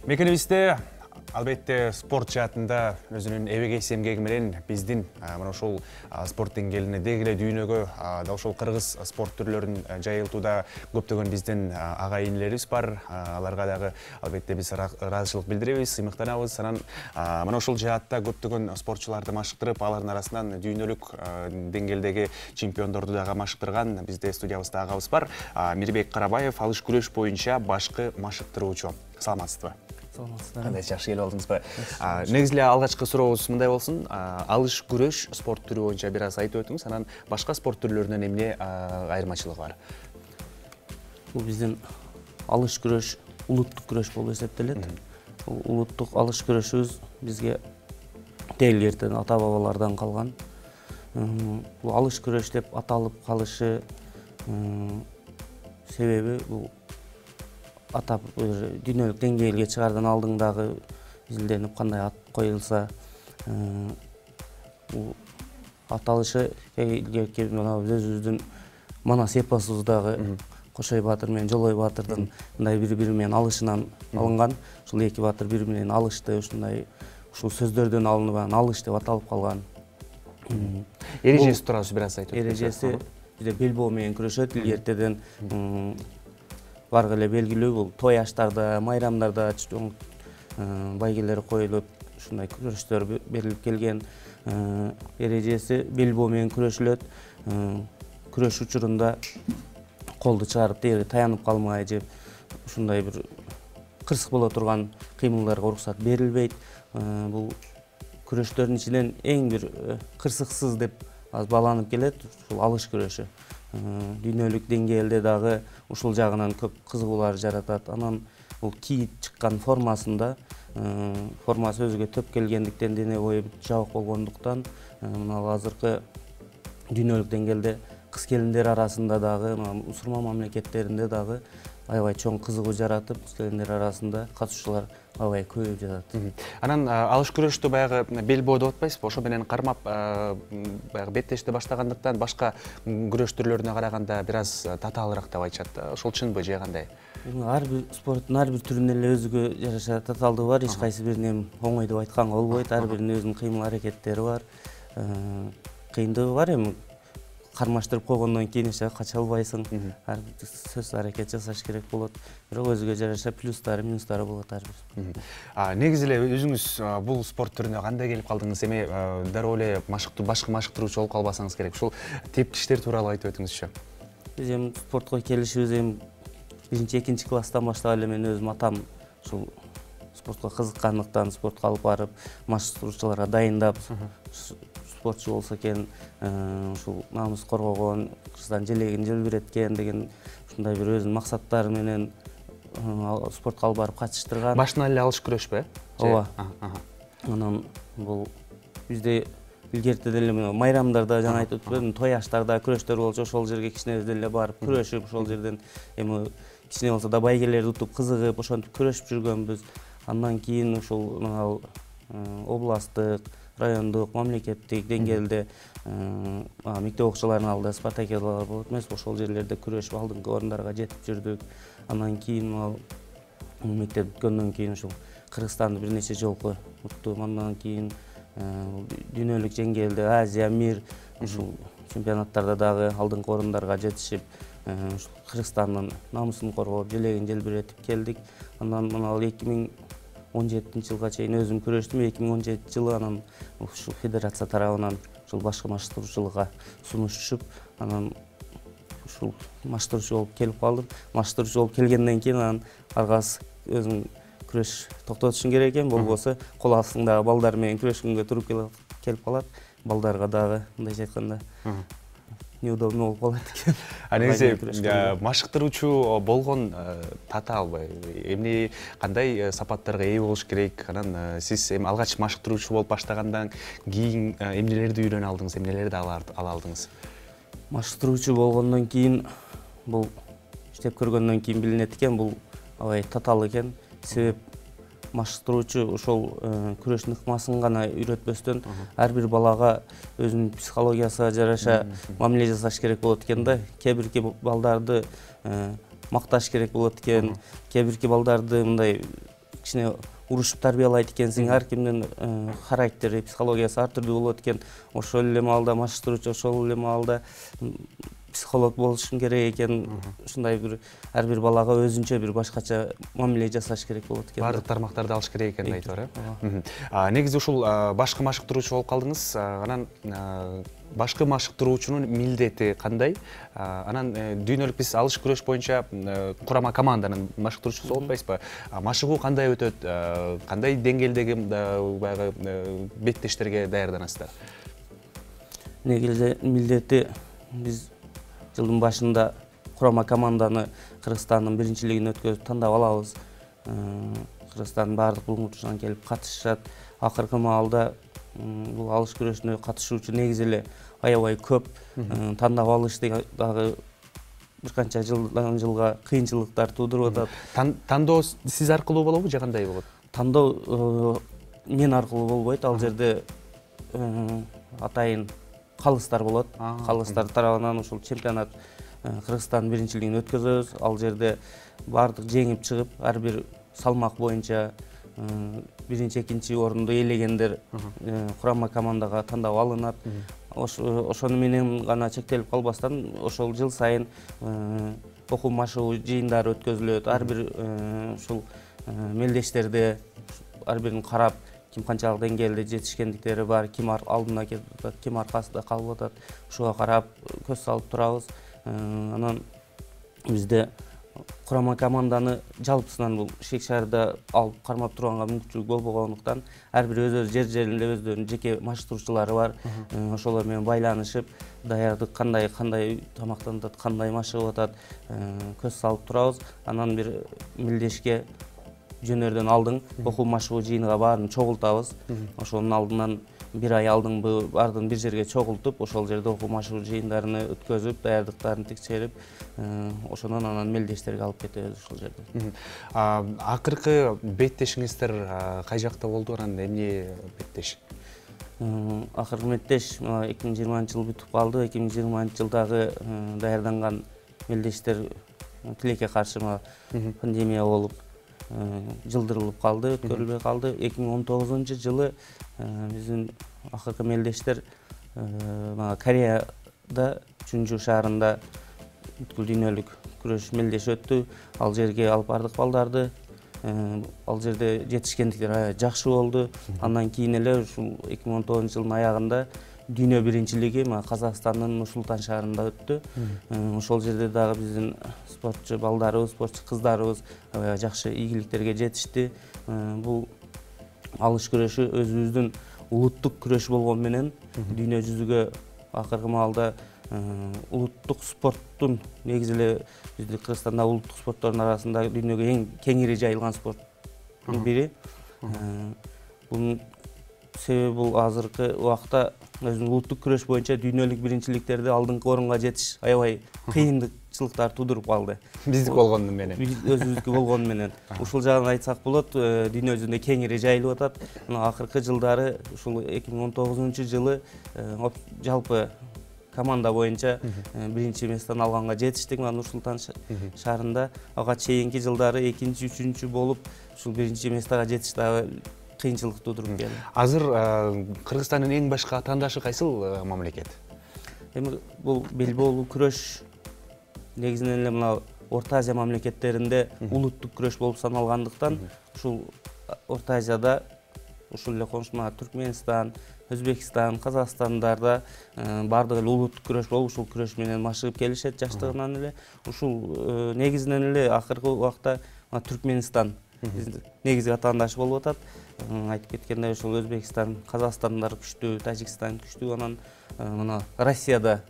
Мекенибизде албетте спорт жаатында өзүнүн эбегейси эмгеги менен биздин мына ушул спорт деңгээлине деги эле дүйнөгө да ушул кыргыз спорт түрлөрүн жайылтууда көптөгөн биздин ага инилерибиз бар. Аларга дагы албетте биз ыраазычылык билдиребиз, сыймыктанабыз. Анан мына ушул жаатта көптөгөн спортчуларды машыктырып, алардын арасынан дүйнөлүк деңгээлдеги чемпиондорду дагы машыктырган бизде студиябызда агабыз бар. Мирбек Карабаев, алыш күрөш боюнча башкы машыктыруучу. Саламатсызбы? Кандай жакшы келип алдыңызбы? Негизи эле алгачкы сурообуз мындай болсун. Алыш күрөш спорт түрү боюнча бир аз айтып өтүңүз, анан башка спорт түрлөрүнөн эмне айырмачылыгы бар? Бул биздин алыш күрөш улуттук күрөш болуп эсептелет. Улуттук алыш күрөшүбүз бизге теги эртеден ата бабалардан калган. Бул алыш күрөш деп аталып калышы себеби бул атап дүйнөлүк деңгээлге чыгардан алдың дагы изилденип кандай ат коюлса бул аталышы өзүбүздүн манас эпосубуздагы Кошой баатыр менен Жолой баатырдын мындай бири-бири менен алышынан алынган. Ушул эки баатыр бири менен алышты, ушундай ушул сөздөрдөн алынып алыш деп аталып калган. Эрежеси тууралуу бир аз айтып өтүңүз. Эрежеси бизде белбоо менен күрөшөт, илгертеден баргы эле белгилүү. Бул той аштарда, майрамдарда чоң байгелер коюлуп, ушундай күрөштөр берилип келген. Эрежеси белбоо менен күрөшүлөт. Күрөш учурунда колду чыгарып тегире таянып калмай же ушундай бир кырсык боло турган кыймылдарга уруксат берилбейт. Бул күрөштөрдүн ичинен эң бир кырсыксыз деп азыр бааланып келет ушул алыш күрөшү. Дүйнөлүк деңгээлде дагы ушул жагынан көп кызыгуулар жаратат. Анан бул кийип чыккан формасында, формасы өзүгө төп келгендиктен, дене бою жабык болгондуктан, мына азыркы дүйнөлүк деңгээлде кыз келиндер арасында дагы, мусулман мамлекеттеринде дагы аябай чоң кызыгуу жаратып, кыз келиндер арасында катышуучулар аябай көбөйүп жатат. Анан алыш күрөштү баягы белбоо деп атпайсызбы? Ошо менен кармап баягы беттешти баштагандыктан башка күрөш түрлөрүнө караганда бир аз татаалыраак деп айтышат. Ошол чынбы же кандай? Ар бир спорттун ар бир түрүнүн эле өзүгө жараша татаалдыгы бар. Эч кайсы бирин оңой деп айтканга болбойт. Ар биринин өзүнүн кыймыл аракеттери бар. Кыйындыгы бар эми. Кармаштырып койгондон кийин эч кача албайсың. Ар сөзсүз аракет жасаш керек болот. Бирок өзүгө жараша плюстары, минустары болот ар бир. Негизи эле өзүңүз бул спорт түрүнө кандай келип калдыңыз? Эми дароо эле башкы машыктыруучу болуп калбасаңыз керек. Ушул тепкичтер тууралуу айтып өтүңүзчү. Биз эми спортко келишибиз эми 1-2 класстан баштап эле мен өзүм атам ушул спортко кызыккандыктан спортко алып барып, машыктыруучуларга дайындап, спортчу болсо экен, ушул намус коргогон, кыргызстан желегин желбиреткен деген ушундай бир өзүнүн максаттары менен спортко алып барып катыштырган. Башынан эле алыш күрөшпү? Ооба. Анан бул бизде илгертеден эле майрамдарда жана айтып өтпөдүмбү, той аштарда күрөштөр болчу, ошол жерге кичинебизден эле барып күрөшүп, ошол жерден эми кичине болсо да байгелерди утуп кызыгып, ошентип күрөшүп жүргөнбүз. Андан кийин ушул областтык, райондук, мамлекеттик деңгээлде мектеп окуучуларынын алдында спартакиадалар болот эмеспи, ошол жерлерде күрөшүп алдыңкы орундарга жетип жүрдүк. Андан кийин мектеп бүткөндөн кийин ушул Кыргызстанды бир нече жолку уттум. Андан кийин дүйнөлүк деңгээлде Азия, мир ушул чемпионаттарда дагы алдыңкы орундарга жетишип, Кыргызстандын намусун коргоп, желегин желбиретип келдик. Андан мына 2017-жылга чейин өзүм күрөштүм. 2017 анан ушул федерация тарабынан ушул башкы машыктыруучулукка сунуш түшүп, анан ушул машыктыруучу болуп келип калдым. Машыктыруучу болуп келгенден кийин анан аргасы өзүң күрөш токтотушуң керек экен, болбосо кол астыңдагы балдар менен күрөшкөнгө туруп келип калат. Балдарга дагы мындайча айтканда неудобно болуп калат экен. Негизи машыктыруучу болгон татаалбы? Эмне кандай сапаттарга ээ болуш керек? Анан сиз эми алгач машыктыруучу болуп баштагандан кийин эмнелерди үйрөнө алдыңыз, эмнелерди ала алдыңыз? Машыктыруучу болгондон кийин бул иштеп көргөндөн кийин билинет экен, бул аябай татаал экен. Себеп машыктыруучу ошол күрөштүн ыкмасын гана үйрөтпөстөн ар бир балага өзүнүн психологиясына жараша мамиле жасаш керек болот экен да. Кээ бирки балдарды макташ керек болот экен, кээ бирки балдарды мындай кичине урушуп тарбиялайт экенсиң, ар кимдин характери, психологиясы ар түрдүү болот экен. Ошол эле маалда машыктыруучу, ошол эле маалда психолог болушуң керек экен. Ушундай бир ар бир балага өзүнчө бир башкача мамиле жасаш керек болот экен. Баардык тармактарды алыш керек экенин айтып бар, э? Негизи ушул башкы машыктыруучу болуп калдыңыз. Анан башкы машыктыруучунун милдети кандай? Анан дүйнөлүк биз алыш күрөш боюнча курама команданын машыктыруучусу болуп атпайсызбы? Машыгуу кандай өтөт? Кандай деңгээлдеги баягы беттештерге даярданасыздар? Негизи милдети биз жылдын башында курама команданы Кыргызстандын биринчилигин өткөзүп тандап алабыз. Кыргызстандын баардык булгучусунан келип катышышат. Акыркы маалда бул алыш күрөшүнө катышуучу негизи эле аябай көп. Тандап алыш дагы бир канча жылдан жылга кыйынчылыктар туудуруп атат. Тандоо сиз аркылуу болобу же кандай болот? Тандоо мен аркылуу болбойт. Ал жерде атайын калыстар болот. Калыстар тарабынан ушул чемпионат Кыргызстандын биринчилигин өткөзөбүз. Ал жерде баардык жеңип чыгып, ар бир салмак боюнча биринчи, экинчи орунду ээлегендер курама командага тандап алынат. Ошону менен гана чектелип калбастан, ошол жыл сайын окуу машыгуу жыйындары өткөзүлөт. Ар бир ушул мелдештерде ар бирин карап, ким канчалык деңгээлде жетишкендиктери бар, ким алдына кетип атат, ким аркасында калып атат, ушуга карап көз салып турабыз. Анан бизде курама команданы жалпысынан бул Шек шаарда алып кармап турганга мүмкүнчүлүк болбогондуктан, ар бир өз жер-жеринде өздөрүнүн жеке машыктыруучулары бар. Ошолор менен байланышып, даярдык кандай тамактанып атат, кандай машыгып атат, көз салып турабыз. Анан бир милдешке жөнөрдөн алдын окуу машыгуу жыйыныга баарын чогултабыз. Ошонун алдынан бир ай алдын баардыгын бир жерге чогултуп, ошол жерде окуу машыгуу жыйындарын өткөзүп, даярдыктарын текшерип, ошондон анан мелдештерге алып кетебиз ошол жерде. Акыркы беттешиңиздер кай жакта болду, анан эмне беттеш? Акыркы меттеш 2020 жыл бүтүп калды. 2020 жылдагы даярданган мелдештер тилекке каршы пандемия болуп жылдырылып калды, өткөрүлбөй калды. 2019 жылы биздин акыркы мелдештер Кореяда Чунжу шаарында бүткүл дүйнөлүк күрөш мелдеши өттү. Ал жерге алып бардык балдарды. Ал жерде жетишкендиктер жакшы болду. Андан кийин эле ушул 2019 жылдын аягында дүйнө биринчилиги Казакстандын Нур-Султан шаарында өттү. Ошол жерде дагы биздин спортчу балдарыбыз, спортчу кыздарыбыз жакшы ийгиликтерге жетишти. Бул алыш күрөшү өзүбүздүн улуттук күрөш болгону менен дүйнө жүзүгө акыркы маалда улуттук спорттун негизи эле биздин Кыргызстанда улуттук спорттордун арасында дүйнөгө эң кеңири жайылган спорттун бири. Бунун себеби бул азыркы убакта өзүнүн улуттук күрөш боюнча дүйнөлүк биринчиликтерди алдыңкы орунга жетиш аябай кыйынчылыктар туудуруп калды. Биздики болгону менен. Өзүбүздүкү болгону менен. Ушул жагын айтсак болот, дүйнө жүзүндө кеңири жайылып атат. Акыркы жылдары ушул 2019 жылы жалпы команда боюнча биринчи местени алганга жетиштик. Нур-Султан шаарында ага чейинки жылдары экинчи, үчүнчү болуп, ушул биринчи местага жетиш дагы кыйынчылык туудуруп келди. Азыр Кыргызстандын эң башкы атаандашы кайсыл мамлекет? Эми бул белбоолуу күрөш негизинен эле мына Орто Азия мамлекеттеринде улуттук күрөш болуп саналгандыктан, ушул Орто Азияда ушул эле конушма Түркмөнстан, Өзбекстан, Казакстандарда баардыгы эле улуттук күрөш болуп, ушул күрөш менен машыгып келишет жаштыгынан эле. Ушул негизинен эле акыркы убакта Түркмөнстан негизги атаандашы болуп атат. Айтып кеткендей, ушул Өзбекстан, Казакстандар күчтүү, Тажикстан күчтүү, анан мына Россияда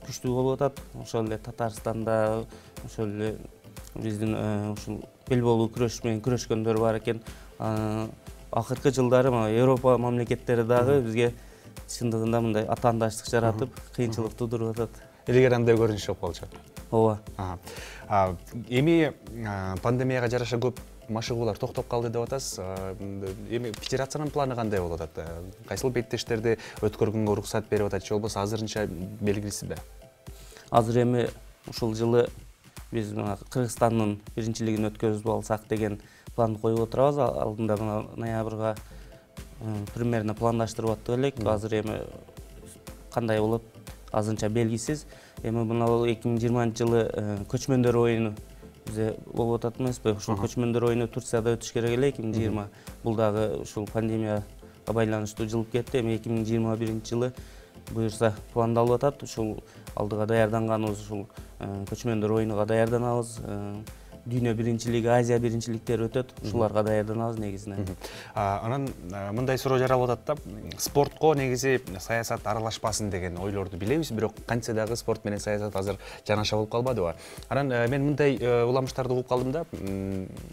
күчтүү болуп атат. Ошол эле Татарстанда, ошол эле биздин ушул белбоолуу күрөш менен күрөшкөндөр бар экен. Акыркы жылдары Европа мамлекеттери дагы бизге чындыгында мындай атаандаштык жаратып, кыйынчылык туудуруп атат. Илгери андай көрүнүш жок болчу. Ооба. Эми пандемияга жараша көп машыгуулар токтоп калды деп атасыз. Эми федерациянын планы кандай болуп атат? Кайсыл беттештерди өткөргөнгө уруксат берип атат же болбосо азырынча белгисизби? Азыр эми ушул жылы биз мына Кыргызстандын биринчилигин өткөзүп алсак деген планды коюп отурабыз. Алдында мына ноябрга примерно пландаштырып аттык элек. Азыр эми кандай болот азырынча белгисиз. Эми мына 2020-жылы көчмөндөр оюну бизде болуп атат эмеспи? Ушул көчмөндөр оюну Турцияда өтүш керек эле 2020. Бул дагы ушул пандемияга байланыштуу жылып кетти. Эми 2021-жылы буюрса пландалып атат. Ушул алдыга даярданганыбыз ушул көчмөндөр оюнуга даярданабыз. Дүйнө биринчилиги, Азия биринчиликтери өтөт. Ушуларга даярданабыз негизинен. Анан мындай суроо жаралып атат да, спортко негизи саясат аралашпасын деген ойлорду билебиз, бирок кантсе дагы спорт менен саясат азыр жанаша болуп калбадыбы? Анан мен мындай уламыштарды угуп калдым да,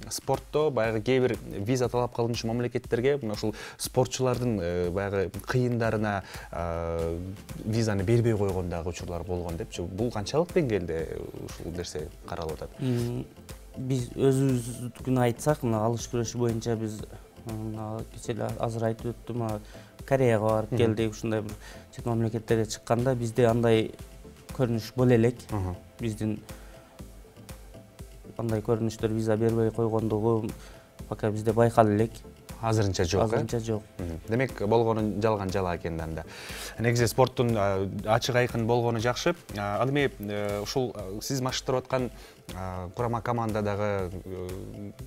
спортто баягы кээ бир виза талап кылынчу мамлекеттерге мына ушул спортчулардын баягы кыйындарына визаны бербей койгон дагы учурлар болгон депчи. Бул канчалык деңгээлде ушул нерсе каралып атат? Биз өзүбүздүкүн айтсак, мына алыш күрөшү боюнча биз кече эле азыр айтып өттүм, Кореяга барып келдик, ушундай бир чет мамлекеттерге чыкканда бизде андай көрүнүш боло элек. Биздин андай көрүнүштөр виза бербей койгондугу пока бизде байкала элек. Азырынча жок. Азырынча жок. Демек, болгону жалган жала экен да. Негизи спорттун ачык айкын болгону жакшы. Ал эми ушул сиз машыктырып аткан курама командадагы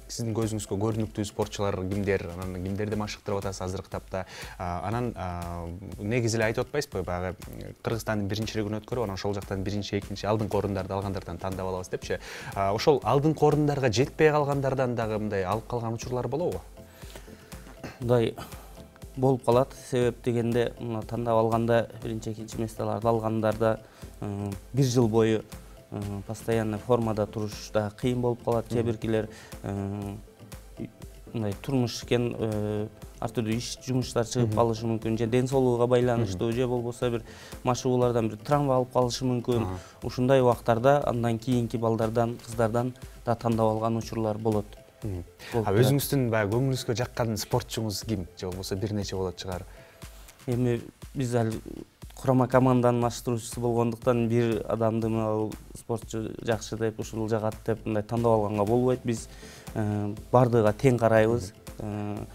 сиздин көзүңүзгө көрүнүктүү спортчулар кимдер, анан кимдерди машыктырып атасыз азыркы тапта? Анан негизи эле айтып атпайсызбы, баягы Кыргызстандын биринчилигин өткөрүп, анан ошол жактан биринчи, экинчи алдыңкы орундарды алгандардан тандап алабыз депчи. Ошол алдыңкы орундарга жетпей калгандардан дагы мындай алып калган учурлар болобу? Мындай болуп калат. Себеп дегенде, мына тандап алганда, биринчи, экинчи месталарды алгандарда бир жыл бою постоянно формада туруш да кыйын болуп калат. Кээ биркилер мындай турмуш экен, ар түрдүү иш, жумуштар чыгып калышы мүмкүн, же ден соолугуга байланыштуу, же болбосо бир машыгуулардан бир травма алып калышы мүмкүн. Ушундай убактарда андан кийинки балдардан, кыздардан да тандап алган учурлар болот. Өзүңүздүн баягы көңүлүңүзгө жаккан спортчуңуз ким? Же болбосо бир нече болот чыгар? Эми биз ал курама команданын машыктыруучусу болгондуктан бир адамды мына спортчу жакшы деп, ушул жагат деп мындай тандап алганга болбойт. Биз бардыгына тең карайбыз.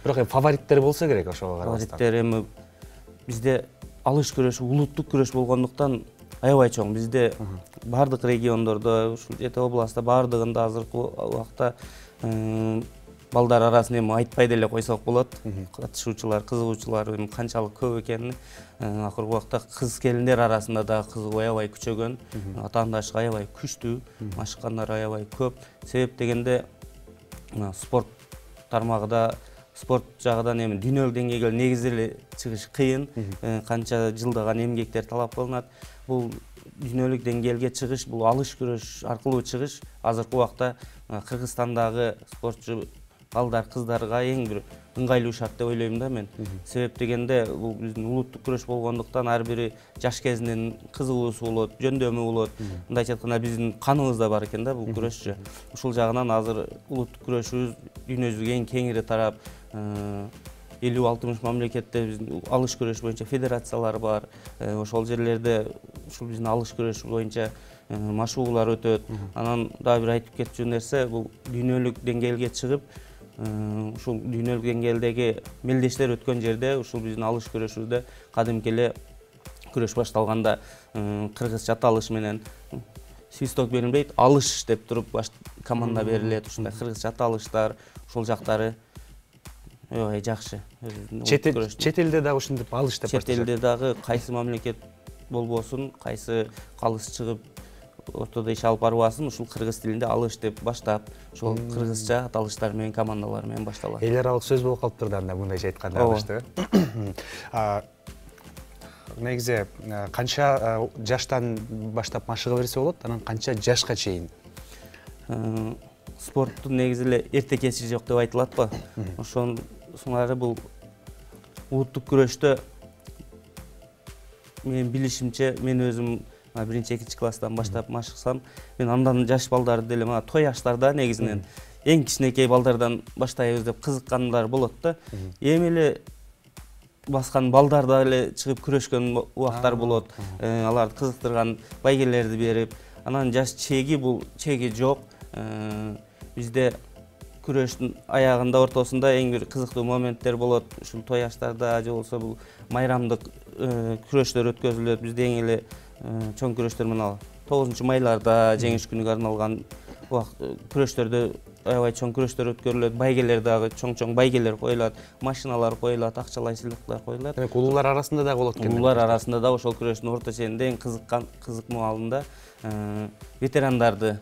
Бирок фавориттер болсо керек ошого карабастан. Фавориттер эми бизде алыш күрөшү улуттук күрөш болгондуктан аябай чоң. Бизде бардык региондордо, ушул жети областта бардыгында азыркы убакта балдар арасын эми айтпай деле койсок болот. Катышуучулар, кызыгуучулар канчалык көп экенин. Акыркы убакта кыз келиндер арасында да кызыгуу аябай күчөгөн, атаандаштык аябай күчтүү, машыккандар аябай көп. Себеп дегенде спорт тармагында, спорт жагынан эми дүйнөлүк деңгээлге негизи эле чыгыш кыйын. Канча жылдаган эмгектер талап кылынат. Бул дүйнөлүк деңгээлге чыгыш, бул алыш күрөш аркылуу чыгыш азыркы убакта Кыргызстандагы спортчу балдар, кыздарга эң бир ыңгайлуу шарт деп ойлойм да мен. Себеп дегенде, бул биздин улуттук күрөш болгондуктан ар бири жаш кезинен кызыгуусу болот, жөндөмү болот. Мындайча айтканда биздин каныбызда бар экен да бул күрөшчү. Ушул жагынан азыр улуттук күрөшүбүз дүйнө жүзүгө эң кеңири тарап, 50-60 мамлекетте биздин алыш күрөш боюнча федерациялар бар. Ошол жерлерде ушул биздин алыш күрөш боюнча машыгуулар өтөт. Анан дагы бир айтып кетчү нерсе, бул дүйнөлүк деңгээлге чыгып, ушул дүйнөлүк деңгээлдеги мелдештер өткөн жерде ушул биздин алыш күрөшүбүздө кадимки эле күрөш башталганда кыргызча аталыш менен свисток берилбейт, алыш деп туруп команда берилет. Ушундай кыргызча аталыштар, ушул жактары аябай жакшы. Чет элде дагы ушинтип алыш деп башташат. Чет элде дагы кайсы мамлекет болбосун, кайсы калыс чыгып ортодо иш алып барбасын, ушул кыргыз тилинде алыш деп баштап, ошол кыргызча аталыштар менен, командалар менен башталат. Эл аралык сөз болуп калыптыр да анда мындайча айтканда алышты. Негизи канча жаштан баштап машыга берсе болот, анан канча жашка чейин? Спорттун негизи эле эрте кечи жок деп айтылатпы? Ошонусуңары бул улуттук күрөштө менин билишимче, мен өзүм биринчи, экинчи класстан баштап машыксам, мен андан жаш балдарды деле мына той аштарда негизинен эң кичинекей балдардан баштайбыз деп кызыккандар болот да. Эми эле баскан балдар да эле чыгып күрөшкөн убактар болот. Аларды кызыктырган байгелерди берип, Анан жаш чеги бул чеги жок. Бизде күрөштүн аягында, ортосунда эң бир кызыктуу моменттер болот. Ушул той аштарда же болбосо бул майрамдык күрөштөр өткөзүлөт. Бизде эң эле чоң күрөштөр мына 9-майларда жеңиш күнүгө арналган күрөштөрдө аябай чоң күрөштөр өткөрүлөт. Байгелер дагы чоң байгелер коюлат, машиналар коюлат, акчалай сыйлыктар коюлат. Демек улуулар арасында дагы болот экен. Улуулар арасында да ошол күрөштүн орто ченинде эң кызык маалында ветерандарды,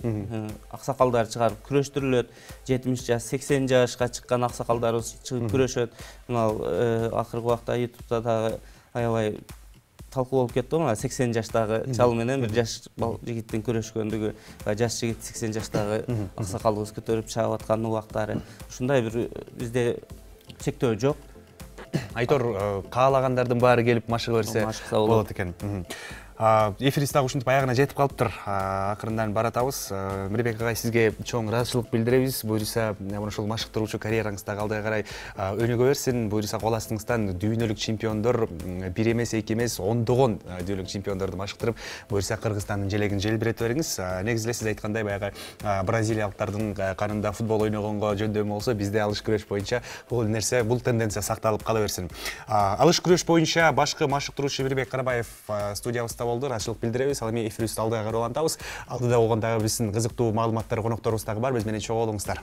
аксакалдар чыгарып күрөштүрүлөт. 70 жаш, 80 жашка чыккан аксакалдарыбыз чыгып күрөшөт. Мына акыркы убакта YouTube'да дагы аябай талкуу болуп кетти. Мына 80 жаштагы чал менен бир жаш жигиттин күрөшкөндүгү, жаш жигит 80 жаштагы аксакалыбыз көтөрүп чыгып аткан убактары. Ушундай бир бизде чектөө жок. Айтор каалагандардын баары келип машыга берсе болот экен. Эфирибиз дагы ушинтип аягына жетип калыптыр. Акырындан баратабыз. Мирбек агай, сизге чоң ыраазычылык билдиребиз. Буюрса, ушул машыктыруучу карьераңыз дагы алга карай өнүгө берсин. Буюрса, кол астыңыздан дүйнөлүк чемпиондор, бир эмес, эки эмес, ондогон дүйнөлүк чемпиондорду машыктырып, буюрса Кыргызстандын желегин желбирете бериңиз. Негизи эле сиз айткандай, баягы бразилиялыктардын канында футбол ойногонго жөндөмү болсо, бизде алыш күрөш боюнча бул нерсе, бул тенденция сакталып кала берсин. Алыш күрөш боюнча башкы машыктыруучу Мирбек Карабаев студиябызда болду. Ыраазычылык билдиребиз. Ал эми эфирибизди алдыга карап улантабыз. Алдыда болгондагы биздин кызыктуу маалыматтар, конокторубуз дагы бар. Биз менен чогуу болуңуздар.